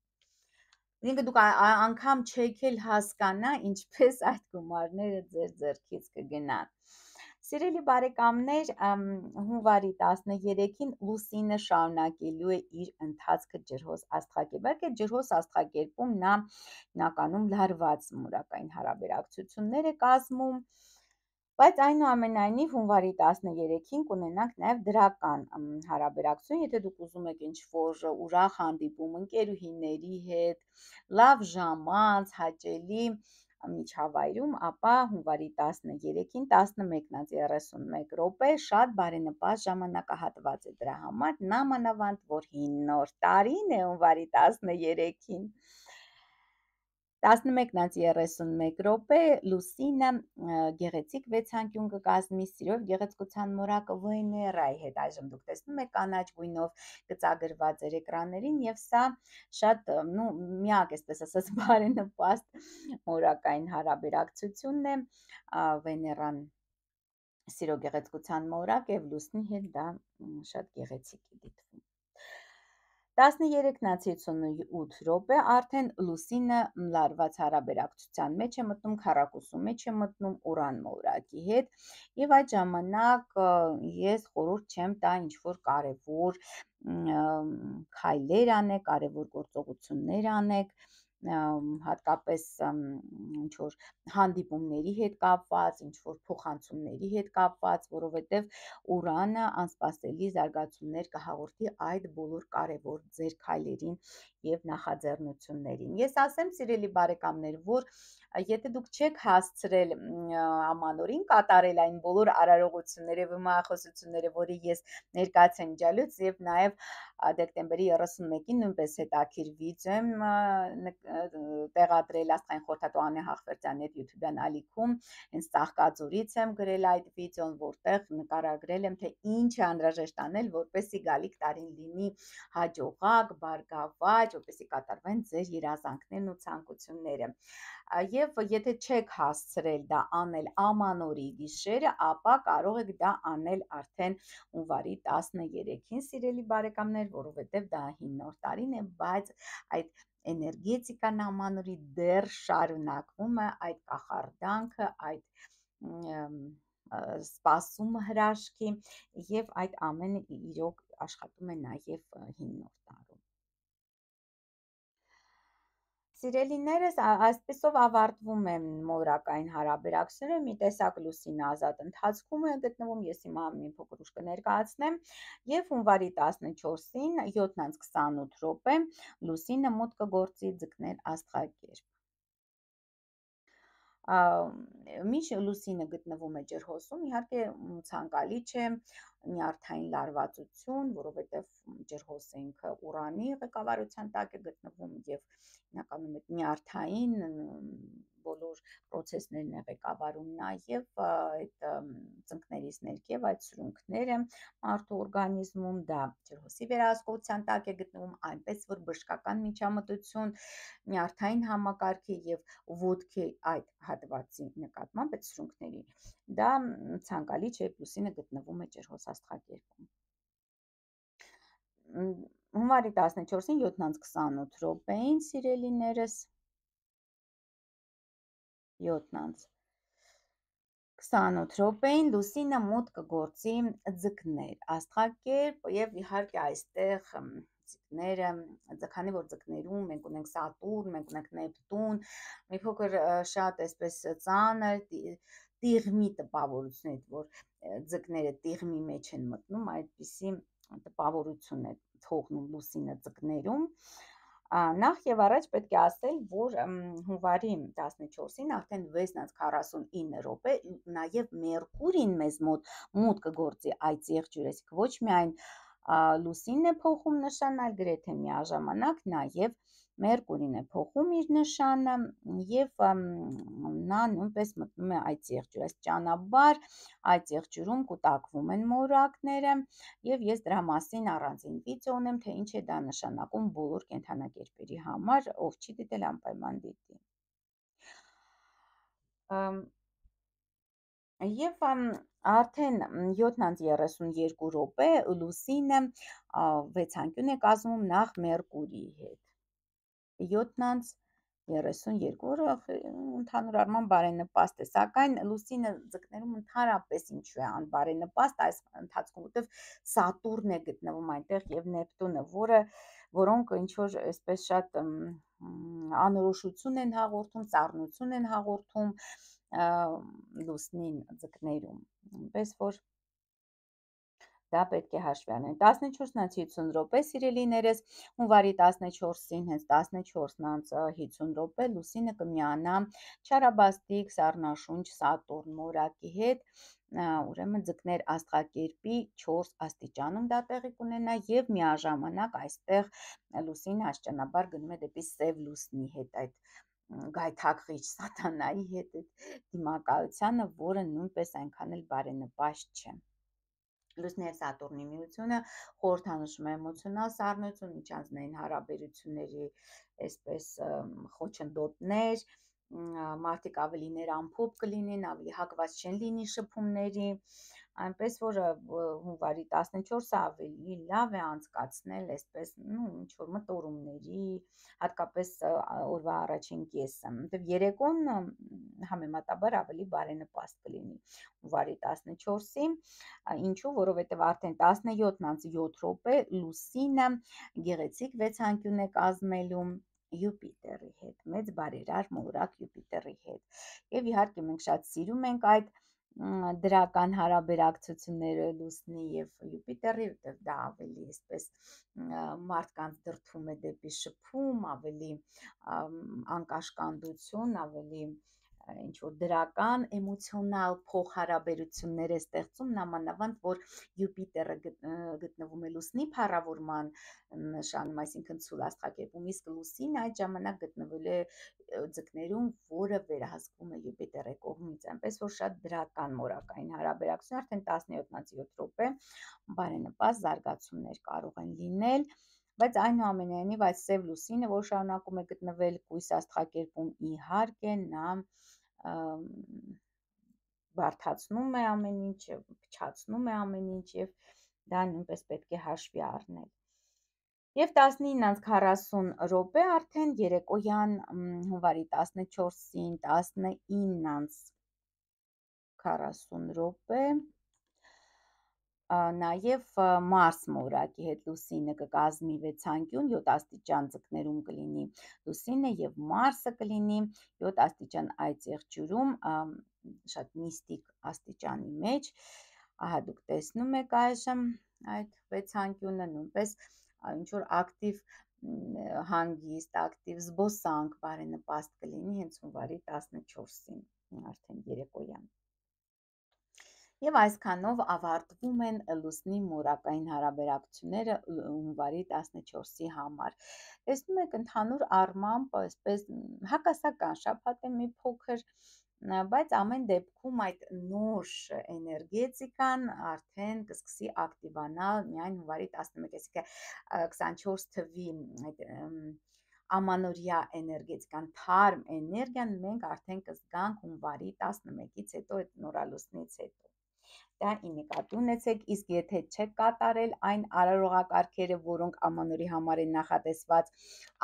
Ինքը դուք անգամ չեք էլ հասկանա, ինչպես այդ գումարները ձեր ձեռքից կգնան։ Սիրելի բարեկամներ, հունվարի 13-ին լուսինը շարունակելու է իր ընթացքը ջրհոս աստղակերպում։ Ջրհոս աստղակերպում նա հիմնականում լարված մորակային հարաբերակցություններ է կազմում, բայց այնուամենայնիվ հունվարի 13-ին կունենանք նաև դրական հարաբերակցություն, եթե դուք ուզում եք ինչ-որ ուրախ հանդիպում ընկերուհիների հետ, լավ ժամանց, հաճելի միջավայրում, ապա հունվարի 13-ին 11-31 րոպե շատ բարենպաստ ժամանակահատված է դրա համար, նամանավանդ, որ հին նոր տարին է հունվարի 13-ին։ 11-31 րոպե լուսինը գեղեցիկ վեցանկյուն կկազմի սիրո և գեղեցկության մորակ Վեներայի հետ, այժմ դուք տեսնում եք կանաչ գույնով գծագրված էր էկրաններին, և սա շատ միակ, այսպես ասած, բարենպաստ մորակային հարաբերակցությունն է, Վեներան սիրո գեղեցկության մորակ և լուսնի հետ դա շատ գեղեցիկ է դիտվում։ 13-ից 58 րոպե արդեն լուսինը լարված հարաբերակցության մեջ է մտնում, քառակուսու մեջ է մտնում Ուրան մոլորակի հետ, եւ այդ ժամանակ ես խորհուրդ չեմ տա ինչ-որ կարևոր քայլեր անեք, կարևոր գործողություններ անեք, հատկապես ինչ-որ հանդիպումների հետ կապված, ինչ-որ փոխանցումների հետ կապված, որովհետև Ուրանը անսպասելի զարգացումներ կհաղորդի այդ բոլոր կարևոր ձեր քայլերին եւ նախաձեռնություններին։ Ես ասեմ, սիրելի բարեկամներ, որ եթե դուք չեք հասցրել ամանորին կատարել այն բոլոր արարողությունները եւ մահախոսությունները, որի ես ներկայացրել ջալուց, եւ նաեւ դեկտեմբերի 31-ին նույնպես հետաքրիր վիդեո եմ տեղադրել Աստղային խորհրդատու Անե Հախվերդյանի հետ YouTube-յան ալիքում, հենց Ծաղկաձորից եմ գրել այդ վիդեոն, որտեղ նկարագրել եմ, թե ինչ է անհրաժեշտ անել, որպեսզի գալիք տարին լինի հաջողակ, բարգավաճ, որպեսզի կատարվեն ձեր երազանքներն ու ցանկությունները։ Եվ եթե չեք հասցրել դա անել ամանորի գիշերը, ապա կարող եք դա անել արդեն հունվարի 13-ին, սիրելի բարեկամներ, որովհետև դա 9-րդ տարին է, բայց այդ էներգետիկան ամանորի դեռ շարունակվում է, այդ կախարդանքը, այդ սպասումը հրաշքի, եւ այդ ամենը իրոք աշխատում է նաեւ 9-րդ տարում։ Սիրելիներս, այսպեսով ավարտվում է մոլորակային հարաբերակցությունը, մի տեսակ լուսինը ազատ ընթացքում է գտնվում, ես հիմա մի փոքր ուշ կներկայացնեմ, եւ հունվարի 14-ին 7:28 րոպե լուսինը մոտ կգործի ձկներ աստղակերպ։ Միշտ լուսինը գտնվում է ջրհոսում, իհարկե ցանկալի չէ նյարդային լարվածություն, որովհետև ջրհոսը ինքը Ուրանի ղեկավարության տակ է գտնվում եւ հիմնականում այդ նյարդային բոլոր process-ներն է ղեկավարում, նաև այդ ծնկներից ներքև այդ սրունքները մարդու օրգանիզմում, դա ջրհոսի վերահսկողության տակ է գտնվում, այնպես որ բժշկական միջամտություն նյարդային համակարգի եւ ոտքի այդ հատվածի նկատմամբ այդ սրունքների, դա ցանկալի չէ, լուսինը գտնվում է ջրհոս աստղակերպում։ Հունվարի 14-ին 7:28 րոպեին, սիրելիներս, 7:28 րոպեին լուսինը մոտ կգործի ձկներ աստղակերպ եւ իհարկե այստեղ ձկները, քանի որ ձկներում մենք ունենք Սատուրն, մենք ունենք Նեպտուն, մի փոքր շատ այսպես ծանր տիղմի տպավորություն է, որ ձկները տիղմի մեջ են մտնում, այդպիսի տպավորություն է թողնում լուսինը ձկներում։ Նախ եւ առաջ պետք է ասել, որ հունվարի 14-ին արդեն 6:49 րոպե նաեւ Մերկուրին մեզ մոտ կգործի այդ եղջյուր, ոչ միայն լուսինն է փոխում նշան, այլ գրեթե միաժամանակ նաեւ Մերկուրին է փոխում իր նշանը եւ նա նույնպես մտնում է այդ եղջյուր, աստիճանաբար այդ եղջյուրում կուտակվում են մոլորակները եւ ես դրա մասին առանձին վիդեո ունեմ, թե ինչ է դա նշանակում բոլոր կենդանակերպերի համար, ով չի դիտել անպայման դիտի։ Եվ արդեն 7:32 րոպե լուսինը վեցանկյուն է կազմում նախ Մերկուրիի հետ։ 7:32 ընդհանուր առմամբ բարենպաստ է, սակայն լուսինը ձկներում ընդհանրապես ինչու է անբարենպաստ այս ընթացքում, որտեղ Սատուրն է գտնվում այնտեղ եւ Նեպտունը, որոնք ինչ որ այսպես շատ անորոշություն են հաղորդում, ծառնություն են հաղորդում լուսնին ձկներում, այնպես որ դա պետք է հաշվի առնել։ 14:50 րոպե, սիրելիներս, հունվարի 14-ին հենց 14:50 րոպե լուսինը կմիանա չարաբաստիկ սառնաշունչ Սատուրն մորակի հետ, ուրեմն ձկներ աստղակերպի 4 աստիճանում դա տեղի կունենա եւ միաժամանակ այստեղ լուսինը աստիճանաբար գնում է դեպի սև լուսնի հետ, այդ գայթակղիչ սատանայի հետ դիմակայությանը, որը նույնպես այնքան էլ բարենպաստ չէ։ Լուսնի եւ Սատուրնի միությունը խորհրդանշում է էմոցիոնալ սառնություն, միջանձնային հարաբերությունների այսպես խոչընդոտներ, մարդիկ ավելի ներամփոփ կլինեն, ավելի հակված չեն լինի շփումների, Այնպես որ հունվարի 14-ը ավելի լավ է անցկացնել այսպես, ինչ որ մտորումների, հատկապես օրվա առաջին կեսը, որտեղ երեկոն համեմատաբար ավելի բարենպաստ կլինի հունվարի 14-ի, ինչու, որովհետև արդեն 17:07 լուսինը գեղեցիկ վեցանկյուն է կազմելու Յուպիտերի հետ, մեծ բարերար մորակ Յուպիտերի հետ։ Եվ իհարկե մենք շատ սիրում ենք այդ դրական հարաբերակցությունները Լուսնի եւ Յուպիտերի, որտեղ դա ավելի այսպես մարդկանց դրդում է դեպի շփում, ավելի անկաշկանդություն, ավելի ինչ որ դրական էմոցիոնալ փոխհարաբերություններ է ստեղծում, նամանավանդ որ Յուպիտերը գտնվում է Լուսնի փառավորման նշանում, այսինքն ցուլ աստղակերպում, իսկ Լուսինը այդ ժամանակ գտնվել է ձկներում, որը վերահսկվում է Յուպիտերի կողմից, այնպես որ շատ դրական մորակային հարաբերակցություն, արդեն 17-7 րոպե բարենպաստ զարգացումներ կարող են լինել, բայց այնուամենայնիվ այդ սև լուսինը, որ շարունակում է գտնվել կույս աստղակերպում, իհարկե նա բարդացնում է ամեն ինչ, փչացնում է ամեն ինչ եւ դա նույնպես պետք է հաշվի առնել։ Եվ 19:40 րոպե արդեն երեկոյան հունվարի 14-ին 19:40 րոպե նաև Մարս մորակի հետ Լուսինը կկազմի վեցանկյուն, 7 աստիճան ձկներում կլինի Լուսինը եւ Մարսը կլինի 7 աստիճան Այծեղջյուրում, շատ միստիկ աստիճանի մեջ, ահա դուք տեսնում եք այժմ այդ վեցանկյունը, նույնպես ինչ որ ակտիվ հանգիստ, ակտիվ զբոսանք բարենպաստ կլինի հենց հունվարի 14-ին, արդեն երեկոյան։ Եվ այսքանով ավարտվում են Լուսնի մորակային հարաբերակցությունները հունվարի 14-ի համար։ Տեսնում եք, ընդհանուր առմամբ այսպես հակասական շաբաթ է մի փոքր, բայց ամեն դեպքում այդ նոր էներգետիկան արդեն կսկսի ակտիվանալ միայն հունվարի 11-ից, այսինքն 24 թվի այդ ամանորյա էներգետիկան, թարմ էներգիան մենք արդեն կզգանք հունվարի 11-ից հետո, այդ նորալուսնից հետո։ Դա ի նկատի ունեցեք, իսկ եթե չեք կատարել այն արարողակարգերը, որոնք ամանորի համար են նախատեսված,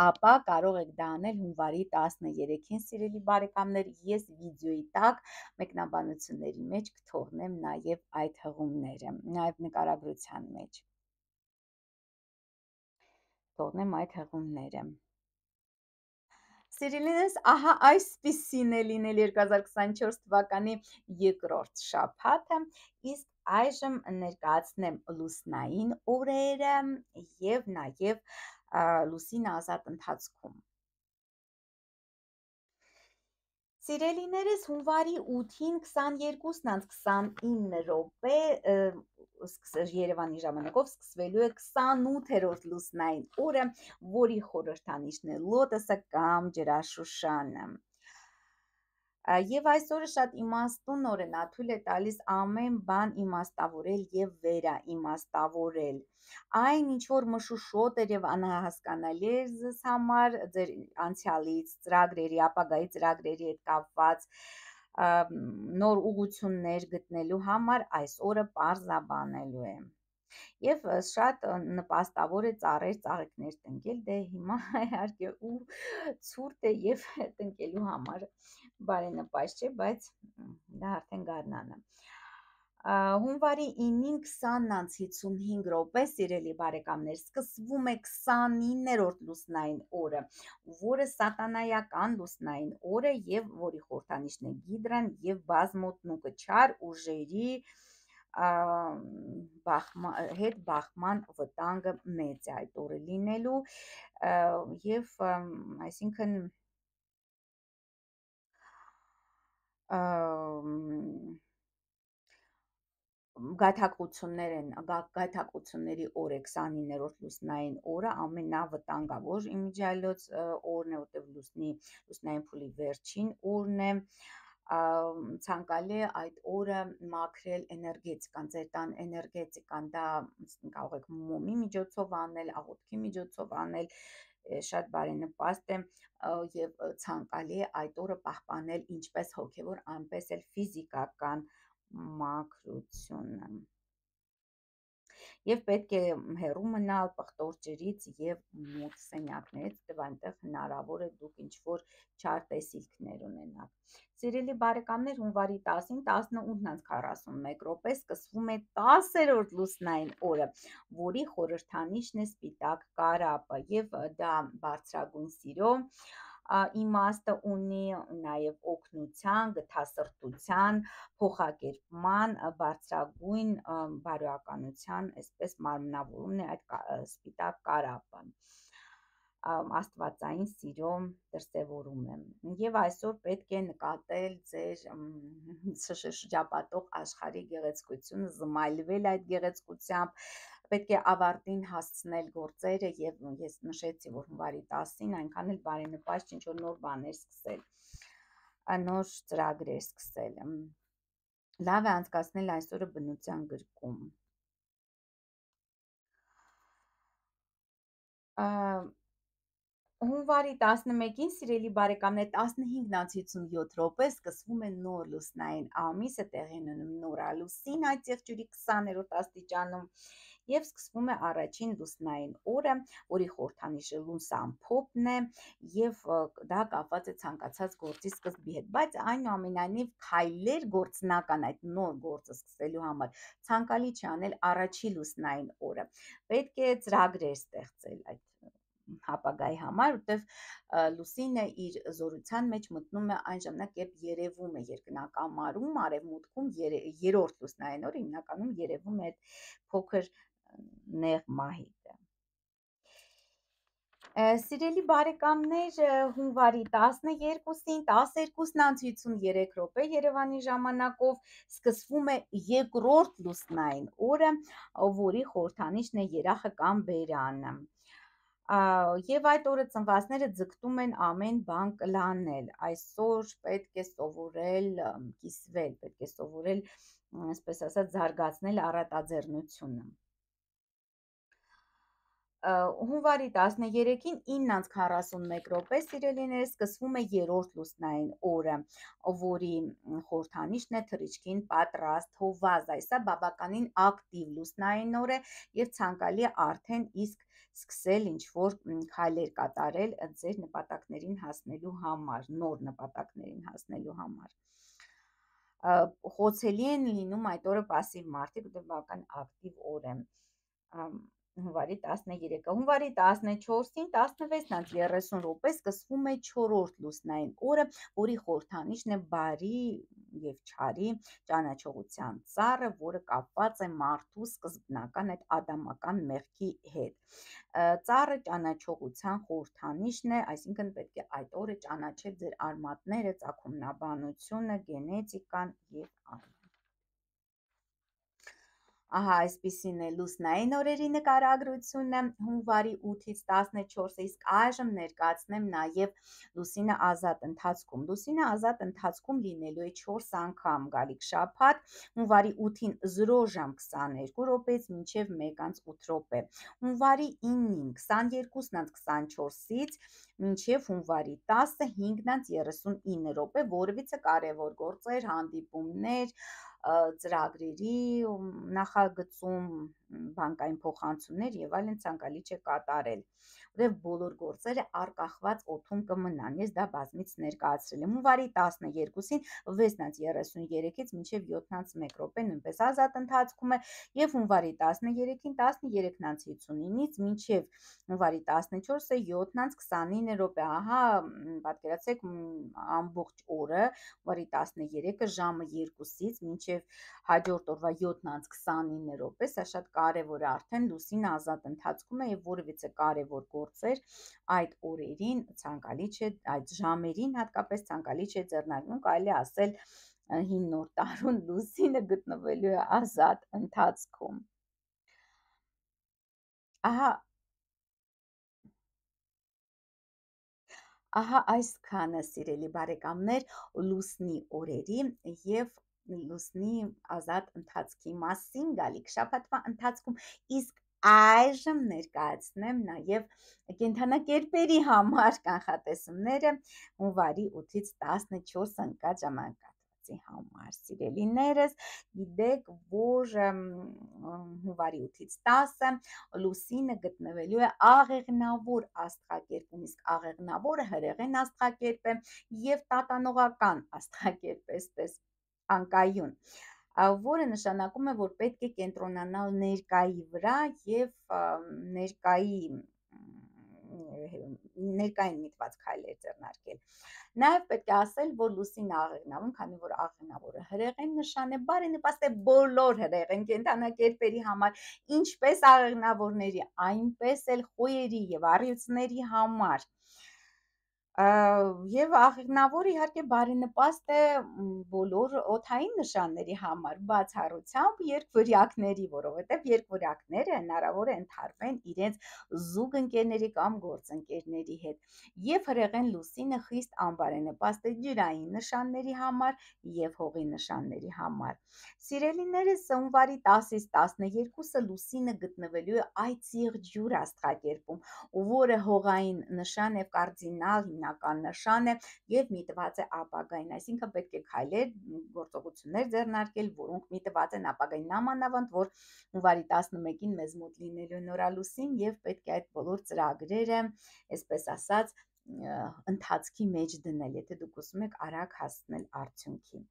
ապա կարող եք դա անել հունվարի 13-ին, սիրելի բարեկամներ, ես վիդեոյի տակ մեկնաբանությունների մեջ կթողնեմ նաև այդ հղումները, նաև նկարագրության մեջ թողնեմ այդ հղումները։ Սիրելիներս, ահա այսպիսին է լինել 2024 թվականի երկրորդ շաբաթը, իսկ այժմ ներկայացնեմ լուսնային օրերը եւ նաեւ լուսին ազատ ընթացքում։ Սիրելիներս, հունվարի 8-ին 22:29 րոպե Երևանի ժամանակով սկսվելու է 28-րդ լուսնային օրը, որի խորհրդանիշն է լոտոսը կամ ջրաշուշանը։ Եվ այս օրը շատ իմաստուն օր է, նա թույլ է տալիս ամեն բան իմաստավորել եւ վերաիմաստավորել։ Այն, ինչ որ մշուշոտ էր եւ անհասկանալի էր ձեզ համար, ձեր անցյալից, ծրագրերի, ապագայի ծրագրերի հետ կապված նոր ուղղություններ գտնելու համար, այս օրը պարզաբանելու է։ Եվ շատ նպաստավոր է ծառեր, ծաղիկներ տնկել, դե հիմա իհարկե ու ցուրտ է եւ տնկելու համար բարենպաստ չէ, բայց դա արդեն գարնանը։ Հունվարի 9-ին 20:55 րոպե, սիրելի բարեկամներ, սկսվում է 29-րդ լուսնային օրը, որը սատանայական լուսնային օր է եւ որի խորհրդանիշն է Գիդրան եւ բազմոտնուկը, չար ուժերի հետ բախման վտանգը մեծ է այդ օրը լինելու եւ այսինքն գայթակղությունների օր է 29-րդ լուսնային օրը, ամենավտանգավոր իմիջիայլոց օրն է, որտեղ լուսնային փուլի վերջին օրն է, ցանկալի է այդ օրը մաքրել էներգետիկան, ձեր տան էներգետիկան, դա կարող եք մոմի միջոցով անել, աղոթքի միջոցով անել, շատ բարենպաստ է եւ ցանկալի է այդ օրը պահպանել ինչպես հոգեվոր, այնպես էլ ֆիզիկական մաքրությունը։ Եվ պետք է հեռու մնալ պղտոր ջրից եւ մութ սենյակներից, որտեղ այնտեղ հնարավոր է դուք ինչ-որ չար տեսիլքներ ունենաք։ Սիրելի բարեկամներ, հունվարի 10-ին 18:41 րոպե սկսվում է 10-րդ լուսնային օրը, որի խորհրդանիշն է սպիտակ կարապը, եւ դա բարձրագույն սիրո իմաստը ունի, նաև օգնության, գթասրտության, փոխակերպման, բարձրագույն բարոյականության, այսպես մարմնավորումն է այդ սպիտակ կարապը, աստվածային սիրո դրսևորում է։ Եվ այսօր պետք է նկատել ձեր շրջապատող աշխարհի գեղեցկությունը, զմայլվել այդ գեղեցկությամբ, պետք է ավարտին հասցնել գործերը, եւ ես նշեցի, որ հունվարի 10-ին այնքան էլ բարենպաստ ինչ որ նոր բաներ սկսել, նոր ծրագրեր սկսել։ Լավ է անցկացնել այսօրը բնության գրկում։ Հունվարի 11-ին, սիրելի բարեկամներ, 15:57 րոպե սկսվում է նոր լուսնային ամիսը, տեղի ունենում նորալուսին այդ եղջյուրի 20-րդ աստիճանում, եւ սկսվում է առաջին լուսնային օրը, որի խորհրդանիշը լույս ամփոփն է, եւ դա կապված է ցանկացած գործի սկզբի հետ, բայց այնուամենայնիվ քայլեր գործնական այդ նոր գործը սկսելու համար ցանկալի չի անել առաջի լուսնային օրը, պետք է ծրագրեր ստեղծել այդ հապագայի համար, որտեղ լուսինը իր զորության մեջ մտնում է այն ժամանակ, երբ երևում է երկնակամարում, արևմուտքում երրորդ լուսնային օրը հիմնականում երևում է այդ փոքր նեղ մահիկը։ Սիրելի բարեկամներ, հունվարի 12-ին 12:53 րոպե Երևանի ժամանակով սկսվում է երկրորդ լուսնային օրը, որի խորհրդանիշն է երախը կամ բերանը։ Եվ այդ օրը ծնվածները ձգտում են ամեն բան կլանել, այսօր պետք է սովորել կիսվել, պետք է սովորել, այսպես ասած, զարգացնել առատաձեռնությունը։ Հունվարի 13-ին 9:41 րոպե, սիրելիներ, սկսվում է երրորդ լուսնային օրը, որի խորհրդանիշն է թռիչքին պատրաստ հովազը, այսա բավականին ակտիվ լուսնային օր է եւ ցանկալի է արդեն իսկ սկսել ինչ-որ քայլեր կատարել ձեր նպատակներին հասնելու համար, նոր նպատակներին հասնելու համար։ Խոցելի են լինում այդ օրը պասիվ մարդիկ, որտեղ բավական ակտիվ օր է։ Հունվարի 13-ը, հունվարի 14-ին 16:30 րոպե սկսվում է չորրորդ լուսնային օրը, որի խորհրդանիշն է բարի եւ չարի ճանաչողության ծառը, որը կապված է մարդու սկզբնական այդ ադամական մեղքի հետ։ Ծառը ճանաչողության խորհրդանիշն է, այսինքն պետք է այդ օրը ճանաչել ձեր արմատները, ծագումնաբանությունը, գենետիկան եւ այլն։ Ահա այսպիսին է լուսնային օրերի նկարագրությունը հունվարի 8-ից 14-ը, իսկ այժմ ներկայացնեմ նաև լուսինը ազատ ընթացքում։ Լուսինը ազատ ընթացքում լինելու է 4 անգամ գալիք շաբաթ, հունվարի 8-ին 0 ժամ 22 րոպեից մինչև 1:08 րոպե, հունվարի 9-ին 22:24-ից մինչև հունվարի 10-ը 5:39 րոպե, որևիցե կարևոր գործեր, հանդիպումներ, ծրագրերի նախագծում, բանկային փոխանցումներ եւ այլն ցանկալի չէ կատարել, որտեղ բոլոր գործերը արկախված օդում կմնան։ Ես դա բազմից ներկայացրել եմ։ Հունվարի 12-ին 6:33-ից մինչև 7:01 րոպե նույնպես ազատ ընթացքում է եւ հունվարի 13-ին 13:59-ից մինչև հունվարի 14-ը 7:29 րոպե։ Ահա, պատկերացրեք, ամբողջ օրը, հունվարի 13-ը ժամը 2-ից մինչև հաջորդ օրվա 7:29 րոպե, սա շատ կարևոր է, արդեն լուսինը ազատ ընթացքում է եւ որևիցե կարևոր գործեր այդ օրերին ցանկալի չէ, այդ ժամերին հատկապես ցանկալի չէ ձեռնարկում, կարելի ասել հին նոր տարուն լուսինը գտնվելու է ազատ ընթացքում։ Ահա այսքանը, սիրելի բարեկամներ, լուսնի օրերի եւ լուսնի ազատ ընթացքի մասին գալիք շաբաթվա ընթացքում, իսկ այժմ ներկայացնեմ նաև կենդանակերպերի համար կանխատեսումները հունվարի 8-ից 14 ընկած ժամանակահատվածում։ գործի համար։ Սիրելիներս, գիտեք, որ հունվարի 8-ից 10-ը լուսինը գտնվելու է աղեղնավոր աստղակերպում, իսկ աղեղնավորը հրեղեն աստղակերպ է եւ տատանողական աստղակերպ, այսպես անկայուն, որը նշանակում է, որ պետք է կենտրոնանալ ներկայի վրա եւ ներկային միտված քայլեր ձեռնարկել։ Նաև պետք է ասել, որ լուսինը աղեղնավում, քանի որ աղեղնավորը հրեղեն նշան է, բարենպաստ է բոլոր հրեղեն կենդանակերպերի համար, ինչպես աղեղնավորների, այնպես էլ խոյերի եւ առյուծների համար։ Եվ աղեղնավորը իհարկե բարենպաստ է բոլոր օդային նշանների համար, բացառությամբ երկվորյակների, որովհետև երկվորյակները հնարավոր է ընդհարվեն իրենց զուգընկերների կամ գործընկերների հետ։ Եվ հրեղեն լուսինը խիստ անբարենպաստ է ջրային նշանների համար եւ հողի նշանների համար։ Սիրելիներս, հունվարի 10-ից 12-ը լուսինը գտնվելու է այծեղջյուր աստղակերպում, որը հողային նշան է, կարդինալ հիմնական նշան է եւ միտված է ապագային, այսինքն պետք է քայլեր, գործողություններ ձեռնարկել, որոնք միտված են ապագային, նամանավանդ որ հունվարի 11-ին մեզ մոտ լինելու է նորալուսին եւ պետք է այդ բոլոր ծրագրերը, այսպես ասած, ընթացքի մեջ դնել, եթե դուք ուզում եք արագ հասնել արդյունքի։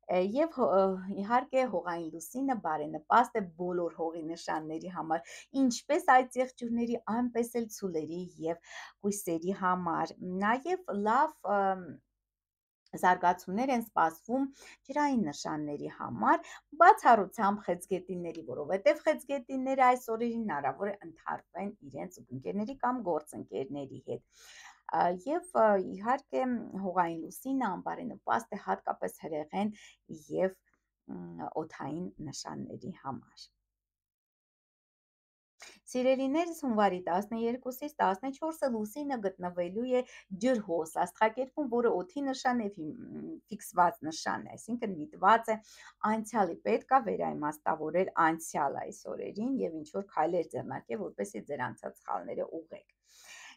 Եվ իհարկե հողային լուսինը բարենպաստ է բոլոր հողի նշանների համար, ինչպես այծեղջյուրների, այնպես էլ ցուլերի եւ կույսերի համար։ Նաեւ լավ զարգացումներ են սպասվում ջրային նշանների համար, բացառությամբ խեցգետինների, որովհետև խեցգետինները այս օրերին հնարավոր է ընդհարվեն իրենց ընկերների կամ գործընկերների հետ։ Եվ իհարկե հողային լուսինը անբարենպաստ է հատկապես հրեղեն եւ օդային նշանների համար։ Սիրելիներս, հունվարի 12-ից 14-ը լուսինը գտնվելու է ջրհոս աստղակերպում, որը օդի նշան է, ֆիքսված նշան է, այսինքն միտված է անցյալի, պետք է վերաիմաստավորել անցյալ այս օրերին եւ ինչ որ քայլեր ձեռնարկել, որպեսզի ձեր անցած սխալները ուղղեք։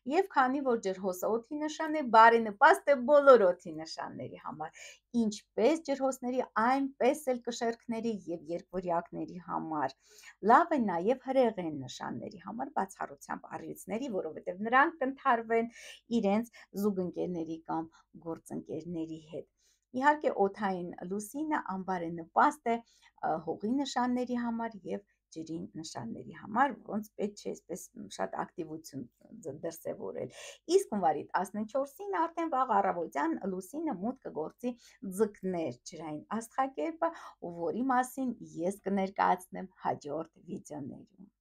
Եվ քանի որ ջրհոսը օդի նշան է, բարենպաստ է բոլոր օդի նշանների համար, ինչպես ջրհոսների, այնպես էլ կշեռքների եւ երկվորյակների համար։ Լավ է նաեւ հրեղեն նշանների համար, բացառությամբ առյուծների, որովհետև նրանք կընդհարվեն իրենց զուգընկերների կամ գործընկերների հետ։ Իհարկե օդային լուսինը անբարենպաստ է հողի նշանների համար եւ ջրի նշանների համար, որոնց պետք չէ այսպես շատ ակտիվություն դրսևորել։ Իսկ հունվարի 14-ին արդեն վաղ առավոտյան լուսինը մուտք կգործի ձկներ ջրային աստղակերպը, որի մասին ես կներկայացնեմ հաջորդ վիդեոներում։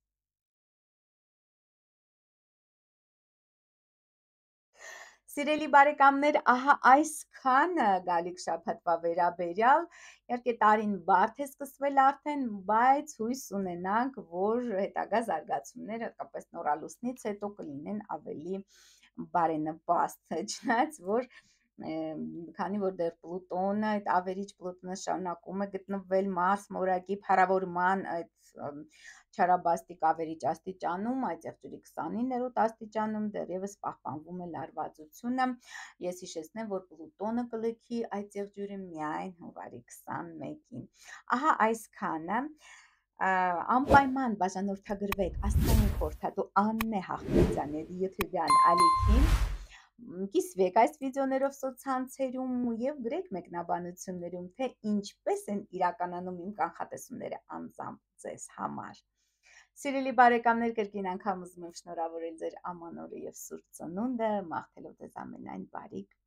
Սիրելի բարեկամներ, ահա այսքանը գալիք շաբաթվա վերաբերյալ, իհարկե տարին բարդ է սկսվել արդեն, բայց հույս ունենանք, որ հետագա զարգացումները, հատկապես նորալուսնից հետո կլինեն ավելի բարենպաստ, չնայած որ քանի որ դեռ Պլուտոնը, այդ ավերիչ Պլուտոնը շարունակում է գտնվել Մարս մորակի փառավորման այդ չարաբաստիկ ավերիչ աստիճանում, այծեղջյուրի 29-րդ աստիճանում դեռևս պահպանվում է լարվածությունը։ Ես հիշեցնեմ, որ Պլուտոնը կլքի այծեղջյուրը միայն հունվարի 21-ին։ Ահա այսքանը, անպայման բաժանորդագրվեք աստղային խորհրդատու Աննե Հախմետյանի YouTube-յան ալիքին, կիսվեք այս վիդեոներով սոցցանցերում եւ գրեք մեկնաբանություններում, թե ինչպես են իրականանում իմ կանխատեսումները անձամբ ձեզ համար։ Սիրելի բարեկամներ, կրկին անգամ ուզում եմ շնորհավորել ձեր ամանորը եւ սուրբ ծնունդը, մաղթելով ձեզ ամենայն բարիք